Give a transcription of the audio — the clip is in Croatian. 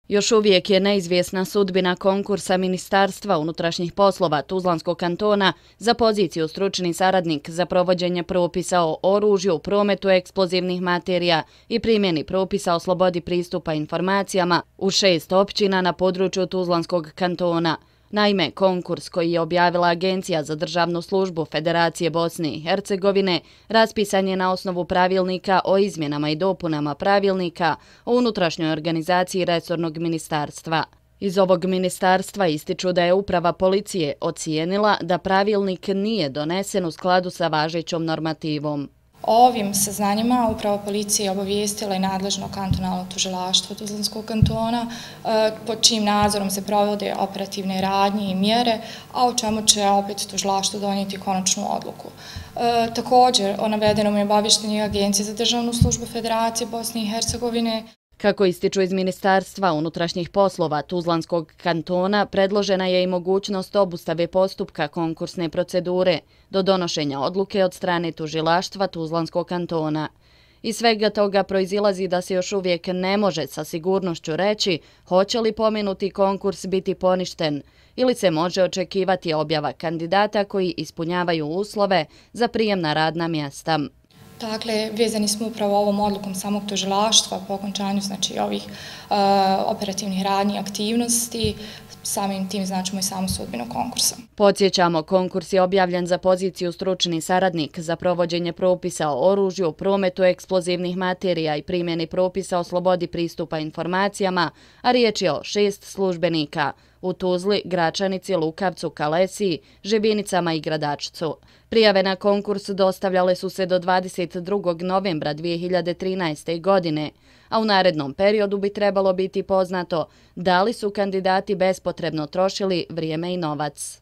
Još uvijek je neizvjesna sudbina konkursa Ministarstva unutrašnjih poslova Tuzlanskog kantona za poziciju stručni saradnik za provođenje propisa o oružju, prometu eksplozivnih materija i primjeni propisa o slobodi pristupa informacijama u 6 općina na području Tuzlanskog kantona. Naime, konkurs koji je objavila Agencija za državnu službu Federacije Bosne i Hercegovine raspisan je na osnovu pravilnika o izmjenama i dopunama pravilnika o unutrašnjoj organizaciji resornog ministarstva. Iz ovog ministarstva ističu da je uprava policije ocijenila da pravilnik nije donesen u skladu sa važećom normativom. O ovim saznanjima uprava policije obavijestila i nadležno kantonalno tužilaštvo Tuzlanskog kantona, pod čijim nadzorom se provode operativne radnje i mjere, a o čemu će opet tužilaštvo donijeti konačnu odluku. Također, o navedenom je obaviještenje Agencije za državnu službu Federacije Bosne i Hercegovine. Kako ističu iz Ministarstva unutrašnjih poslova Tuzlanskog kantona, predložena je i mogućnost obustave postupka konkursne procedure do donošenja odluke od strane tužilaštva Tuzlanskog kantona. Iz svega toga proizilazi da se još uvijek ne može sa sigurnošću reći hoće li pomenuti konkurs biti poništen ili se može očekivati objava kandidata koji ispunjavaju uslove za prijem na radna mjesta. Dakle, vezani smo upravo ovom odlukom samog tužilaštva po okončanju ovih operativnih radnji i aktivnosti, samim tim značimo i samu sudbinu konkursa. Podsjećamo, konkurs je objavljen za poziciju stručni saradnik za provođenje propisa o oružju, prometu eksplozivnih materija i primjeni propisa o slobodi pristupa informacijama, a riječ je o 6 službenika u Tuzli, Gračanici, Lukavcu, Kalesiji, Žebinicama i Gradačcu. Prijave na konkurs dostavljale su se do 22. novembra 2013. godine, a u narednom periodu bi trebalo biti poznato da li su kandidati bespotrebno trošili vrijeme i novac.